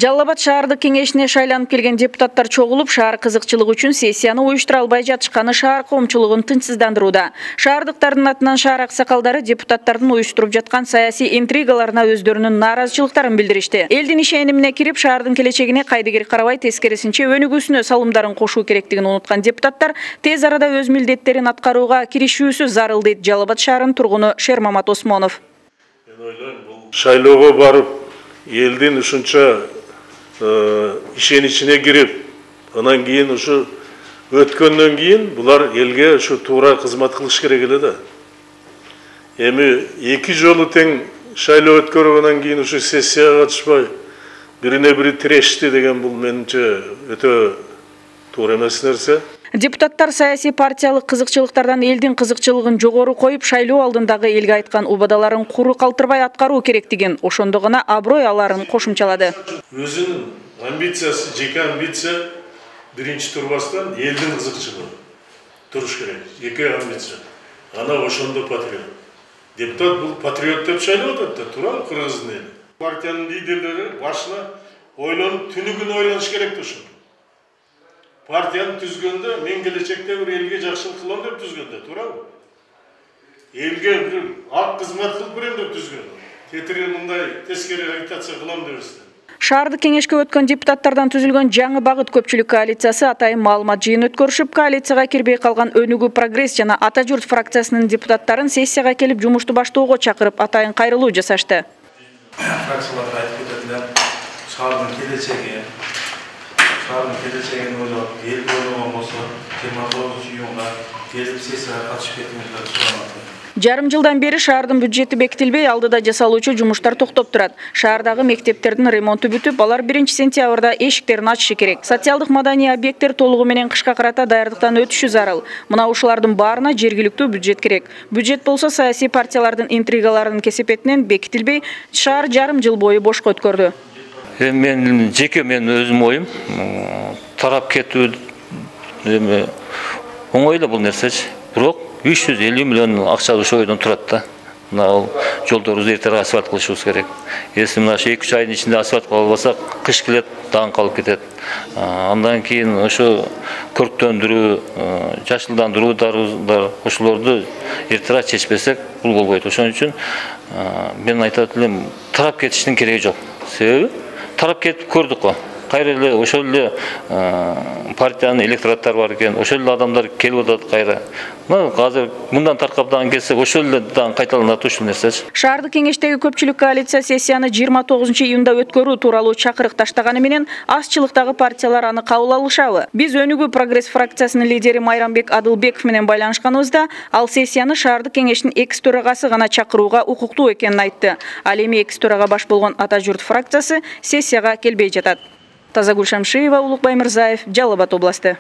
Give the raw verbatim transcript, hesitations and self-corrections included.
Жалал Абад шаардык кеңешине шайланып келген депутаттар чогулуп, шаар кызыкчылыгы үчүн сессияны уюштура албай жатышканы шаар коомчулугун тынчсыздандырууда. Шаардыктардын атынан шаар аксакалдары депутаттардын уюштуруп жаткан саясий интригаларына өздөрүнүн нааразычылыктарын билдиришти. Элдин ишенимине кирип, шаардын келечегине кайдыгер карабай, тескерисинче өнүгүүсүнө салымдарын кошуу керектигин унуткан депутаттар тез арада өз милдеттерин аткарууга киришүүсү зарыл, дейт Жалал Абад шаарынын тургуну Шермамат Осмонов. Мен ойлойм, бул шайлоого барып, элдин ушунча ишеничине кирип, анан кийин ушу өткөндөн кийин булар элге ушу туура кызмат кылыш керек эле да. Эми эки жолу тең шайлоо өткөргөндөн кийин ушу сессияга катышпай, бирине бири тирешти деген бул менимче өтө туура эмес нерсе. Депутаттар саясий партиялык кызыкчылыктардан элдин кызыкчылыгын жогору коюп, шайлоо алдындагы элге айткан убадаларын куру калтырбай аткаруу керектигин, ошондо гана аброй аларын кошумчалады. Өзүнүн амбициясы, жеке амбиция биринчи турбастан элдин кызыкчылыгы туруш керек. Жеке амбиция. Ана ошондо патриот. Депутат бул патриот деп шайлап атат да, туура кыргыздын эли. Партиянын лидерлери башына ойлонуп, түнүгүн ойлоnuş керек да ошону. Партияны түзгөндө мен келечекте бир элге жакшылык кылам деп түзгөндө, туурабы? Элге бир ак кызмат кылып берем деп түзгөн. Тетири мындай тескери агитация кылам деп эстен. Шаардык кеңешке өткөн депутаттардан түзүлгөн жаңы багыт көпчүлүк коалициясы атайын маалымат жыйын өткөрүшүп, коалицияга кирбей калган Өнүгүү Прогресс жана Ата журт фракциясынын депутаттарын сессияга келип жумушту баштоого чакырып, атайын кайрылуу жасашты. Фракцияларга айтып кететилер, шаардын келечеги Шаардын келечегин ойлоп, эл ойлогон болсо, жыйырма тогузунчу июнга келип сессияга катышып кетиңиздерди сураймын. Жарым жылдан бери шаардын бюджети бекитилбей, алдыда жасалуучу жумуштар токтоп турат. Шаардагы мектептердин ремонту бүтүп, алар биринчи сентябрда эшиктерин ачышы керек. Социалдык маданий объекттер толугу менен кышка карата даярдыктан өтүшү зарыл. Мына ушулардын баарына жергиликтүү бюджет керек. Бюджет болсо саясий партиялардын интригаларынын кесепетинен бекитилбей, шаар жарым жыл бою бошко өткөрдү. Мен жеке мен өзүм оюм, тарап кетүү эми оңой эле бул нерсечи. Бирок үч жүз элүү миллион акча ошол ойдон турат да. Мына ал жолдорубузду эртерээк асфальт кылышыбыз керек. Эси мына эки үч айдын ичинде асфальт кыла албасак, кыш келет, даң калып кетет. Андан кийин ошо көрктөндүрүү, жашылдандыруудар ошолорду эртерээк чечпесек, бул болбойт. Ошон үчүн мен айтат элем, тарап кетиштин кереги жок. Себеби тарап кетип көрдүк го. Кайра эле ошол эле партиянын электораттары бар экен, ошол эле адамдар келип атат кайра. Мына азыр мындан таркап дагы келсек, ошол эле дагы кайталанат ушул нерсечи. Шаардык кеңештеги көпчүлүк коалиция сессияны жыйырма тогузунчу июнда өткөрүү тууралуу чакырык таштаганы менен, азчылыктагы партиялар аны кабыл алышабы? Биз Өнүгүү Прогресс фракциясынын лидери Майрамбек Адылбеков менен байланышканыбызда, ал сессияны шаардык кеңештин экс төрагасы гана чакырууга укуктуу экенин айтты. Ал эми экс төрага баш болгон Ата журт фракциясы сессияга келбей жатат. Тазагүл Шамшиева, Улукбай Мырзаев, Жалал Абад областы.